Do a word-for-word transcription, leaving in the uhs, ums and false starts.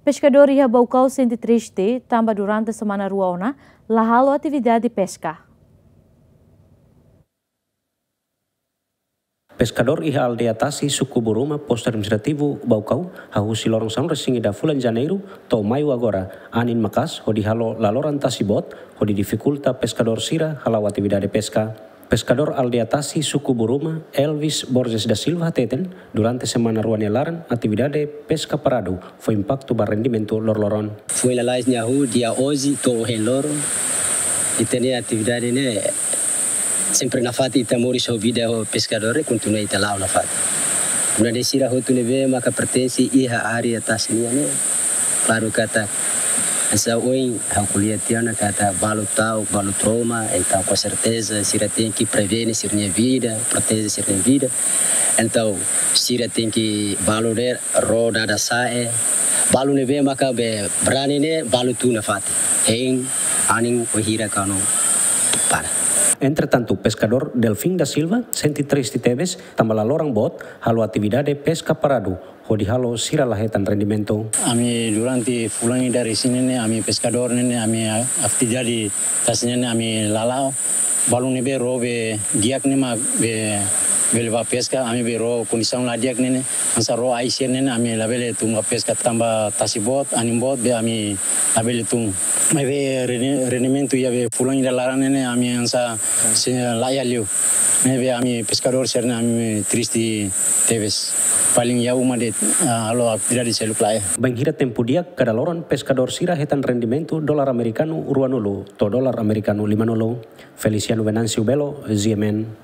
Peskadór iha Baucau sente triste tanba durante semana rua ona la halo atividade peska. Peskadór iha aldeia Tasi, suku Buruma, postu administrativu Baucau, hahú husi loron sanulu-resin-ida fulan Janeiru to'o Maiu agora, anin maka'as hodi halo laloran tasi boot, hodi difikulta peskadór sira hala'o atividade peska. Peskadór aldeia Tasi, suku Buruma, Elvis Borges da Silva hateten, durante semana rua nia laran, atividade peska paradu, fó impaktu ba rendimentu loroloron. Foin lalais nia hahú, dia onze to'o ohin loron, ita-nia atividade ne'e sempre nafatin, ita moris ho vida ho peskadór, kontinua ita la'o nafatin. Nune'e sira hotu ne'ebé maka pertense iha área Tasi nian ne'e, klaru katak, hanesan ohin ha'u ko'alia tiha ona katak balu ta'uk, balu trauma, entaun com certeza sira tenke prevene sira-nia vida, proteje sira-nia vida. Entaun sira tenke balu de'it ró dada sa'e. Balu ne'ebé maka be brani ne'e balu tun nafatin. Hein, anin, wainhira kanu para. Entretantu, peskadór Delfim da Silva sente triste tebes tanba laloran boot halo atividade peska paradu, hodi halo sira la hetan rendimentu. Ami durante fulan ida resin ne'e, ami peskadór ne'e, ami atividade tasi ne'e, ami la la'o. Balu ne'ebé ró be di'ak ne'e mak be bele bá peska, ami be ró kondisaun la di'ak ne'e, hanesan ró ai sira ne'e, ami labele tun bá peska tanba tasi boot, anin boot, be ami labele tun. Maibé rene-, rendimentu iha be fulan ida laran ne'e, ami hanesan sei laiha liu. Ne'ebé ami peskadór sira-ne'e, ami triste tebes. Paling iha uma de'it, ah, halo atividade seluk laiha. Bainhira tempu di'ak, kada loron peskadór sira hetan rendimentu dolar amerikanu ruanulu to'o dolar amerikanu limanulu. Feliciano Venâncio Belo, G M N.